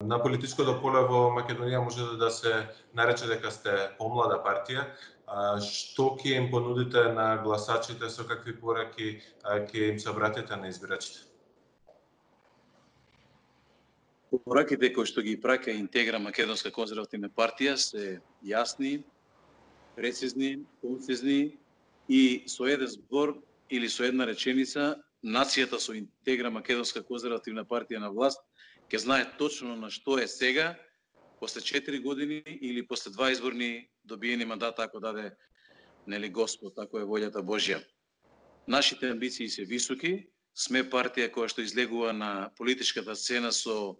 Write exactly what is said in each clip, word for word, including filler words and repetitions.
На политичкото поле во Македонија може да се нарече дека сте помлада партија. Што ќе им понудите на гласачите, со какви пораки ќе им се обратите на избирачите? Пораките кои што ги праќа Интегра Македонска конзервативна партија се јасни, прецизни, концизни и со еден збор или со една реченица нацијата со Интегра Македонска конзервативна партија на власт ќе знае точно на што е сега, после четири години или после два изборни добиени мандата, ако даде нели Господ, ако е волјата Божја. Нашите амбиции се високи, сме партија која што излегува на политичката сцена со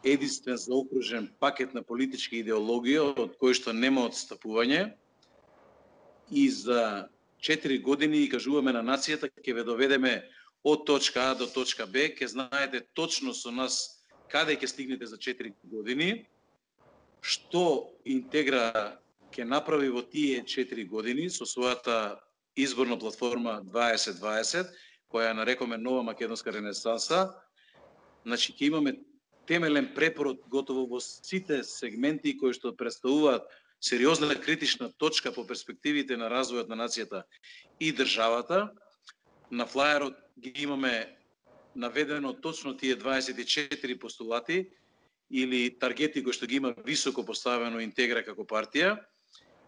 единствен заокружен пакет на политичка идеологија од кој што нема отстапување и за четири години и кажуваме на нацијата ќе ве доведеме од точка А до точка Б, ќе знаете точно со нас каде ќе стигнете за четири години, што Интегра ќе направи во тие четири години со својата изборна платформа дваесет дваесет, која ја нарекоме Нова македонска ренесанса. Значи ќе имаме темелен препород готово во сите сегменти кои што представуваат сериозна критична точка по перспективите на развојот на нацијата и државата. На флаерот ги имаме наведено точно тие дваесет и четири постулати или таргети кои што ги има високо поставено Интегра како партија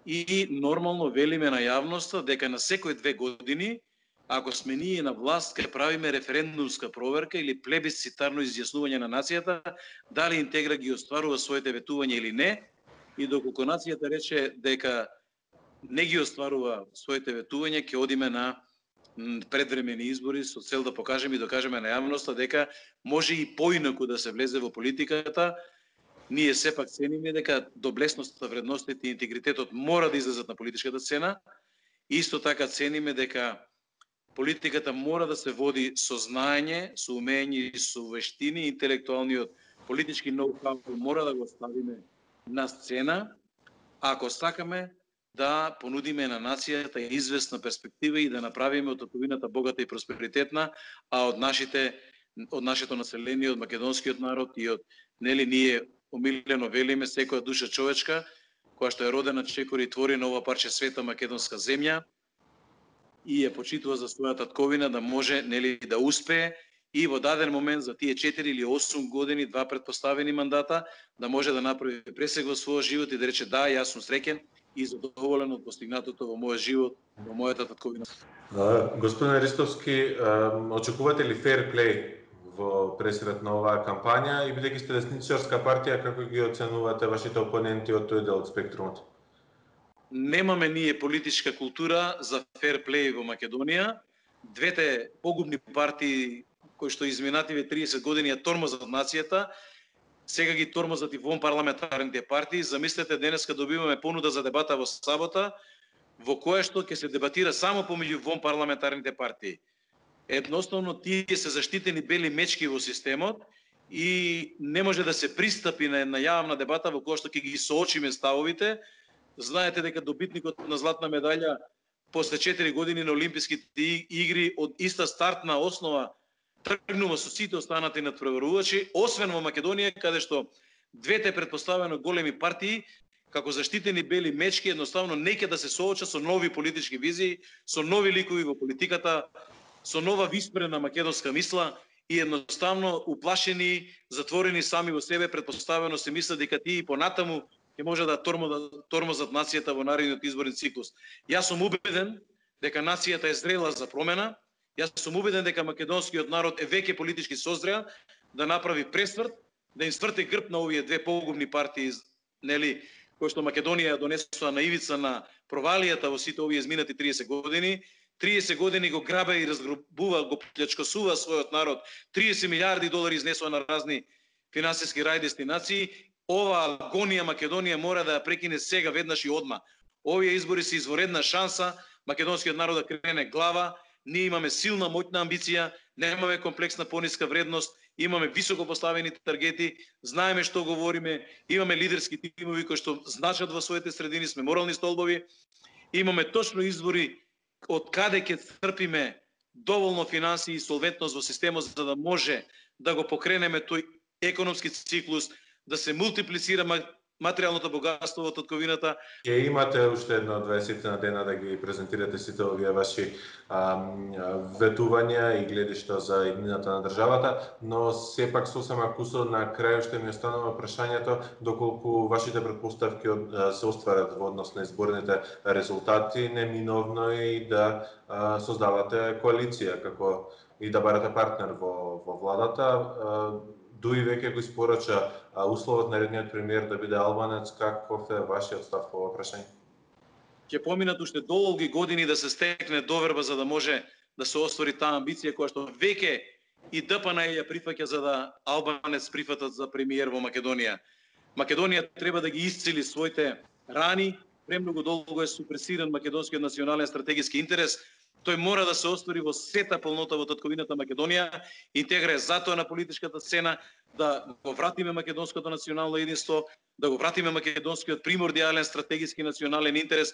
и нормално велиме на јавноста дека на секој две години, ако сме ние на власт, ќе правиме референдумска проверка или плебисцитарно изјаснување на нацијата дали Интегра ги остварува своите ветувања или не, и доколку нацијата рече дека не ги остварува своите ветувања, ќе одиме на предвремени избори со цел да покажеме и докажеме на јавноста дека може и поинаку да се влезе во политиката. Ние сепак цениме дека доблесноста, вредностите и интегритетот мора да излезат на политичката сцена. Исто така цениме дека политиката мора да се води со знаење, со умење и со вештини, интелектуалниот политички ноу-хау мора да го ставиме на сцена, ако сакаме да понудиме на нацијата известна перспектива и да направиме од татовината богата и просперитетна, а од нашите од нашето население, од македонскиот народ и од нели ние омилено велиме секоја душа човечка која што е родена чекори и твори на ова парче света македонска земја и ја почитува за својата татковина да може нели да успее и во даден момент за тие четири или осум години, два предпоставени мандата, да може да направи пресек во својот живот и да рече да, јас сум среќен и задоволен од постигнатото во мојот живот, во мојата татковина. Господин Ристовски, очекувате ли фер плей во пресред на оваа кампања и бидејќи сте десничарска партија, како ги оценувате вашите опоненти од тој дел од спектрумот? Немаме ние политичка култура за фер плей во Македонија. Двете погубни партии кои што изминативе триесет години ја тормозат нацијата, сега ги тормозат и вон парламентарните партии. Замислете, денеска добиваме понуда за дебата во сабота, во која што ќе се дебатира само помеѓу вон парламентарните партии. Едноставно, тие се заштитени бели мечки во системот и не може да се пристапи на една јавна дебата во која што ќе ги соочиме ставовите. Знаете дека добитникот на златна медаља после четири години на Олимписките игри од иста стартна основа тргнува со сите останати надпреварувачи, освен во Македонија, каде што двете предпоставено големи партии, како заштитени бели мечки, едноставно не ќе да се соочат со нови политички визии, со нови ликови во политиката, со нова виспрена македонска мисла и едноставно уплашени, затворени сами во себе, предпоставено се мислат дека тие и понатаму ќе може да тормозат нацијата во наредниот изборен циклус. Јас сум убеден дека нацијата е зрела за промена. Јас сум убеден дека македонскиот народ е веќе политички созрел да направи пресврт, да им сврте грб на овие две погубни партии, нели, кои што Македонија донесува на ивица на провалијата во сите овие изминати триесет години. триесет години го грабе и разграбува, го плячкосува својот народ. триесет милиарди долари изнесува на разни финансиски рај дестинации. Ова агонија Македонија мора да ја прекине сега, веднаш и одма. Овие избори се изворедна шанса македонскиот народ да крене глава. Ние имаме силна, моќна амбиција, немаме комплексна пониска вредност, имаме високо поставени таргети, знаеме што говориме, имаме лидерски тимови кои што значат во своите средини, сме морални столбови, имаме точно избори од каде ќе црпиме доволно финансии и солвентност во системот за да може да го покренеме тој економски циклус, да се мултиплицира материјалното богатство во татковината. Ќе имате уште едно дваесет на дена да ги презентирате сите овие ваши ам, ветувања и гледишта за иднината на државата, но сепак сосема кусо на крај што ми останува прашањето доколку вашите претпоставки се остварат во однос на изборните резултати, неминовно е и да а, создавате коалиција како и да барате партнер во во владата. Дуи веќе го испорача условот на редниот премиер да биде албанец. Каков е вашиот став по ова прашање? Ќе поминат уште долги години да се стекне доверба за да може да се оствари таа амбиција која што веќе и Д П Н ја прифаќа за да албанец прифатат за премиер во Македонија. Македонија треба да ги исцели своите рани, премногу долго е супресиран македонскиот национален стратегиски интерес. Тој мора да се оствари во сета полнота во татковината Македонија. Интегра е затоа на политичката сцена да го вратиме македонското национално единство, да го вратиме македонскиот примордијален стратегиски национален интерес.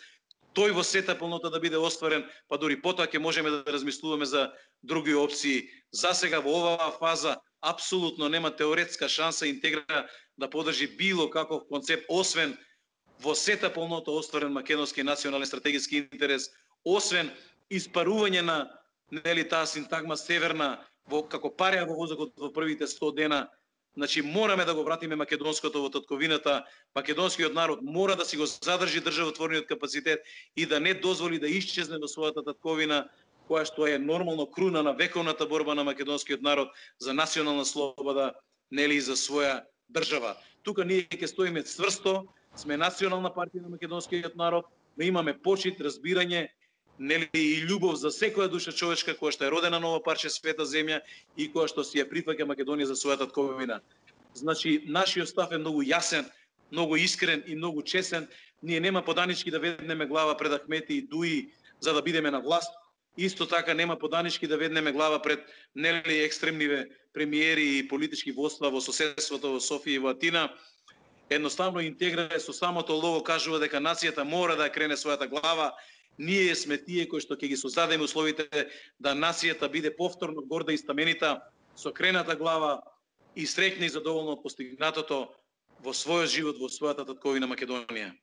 Тој во сета полнота да биде остварен, па дури потоа ќе можеме да размислуваме за други опции. За сега во оваа фаза апсолутно нема теоретска шанса Интегра да подржи било каков концепт, освен во сета полнота остварен македонски национален стратегиски интерес, освен испарување на нели таа синтагма северна во како пареа во воздухот во првите сто дена. Значи мораме да го вратиме македонското во татковината. Македонскиот народ мора да си го задржи државотворниот капацитет и да не дозволи да исчезне во својата татковина, која што е нормално круна на вековната борба на македонскиот народ за национална слобода, нели и за своја држава. Тука ние ќе стоиме цврсто, сме национална партија на македонскиот народ, но имаме почит, разбирање, нели и љубов за секоја душа човечка која што е родена на ова парче света земја и која што си ја прифаќа Македонија за својата татковина. Значи нашиот став е многу јасен, многу искрен и многу честен. Ние нема поданички да веднеме глава пред Ахмети и Дуи за да бидеме на власт. Исто така нема поданички да веднеме глава пред нели екстремниве премиери и политички воства во соседството во Софија и во Атина. Едноставно Интегра со самото лого кажува дека нацијата мора да крене својата глава. Ние сме тие кои што ќе ги создадеме условите да нацијата биде повторно горда и стаменита, со крената глава и среќна и задоволна од постигнатото во својот живот во својата татковина Македонија.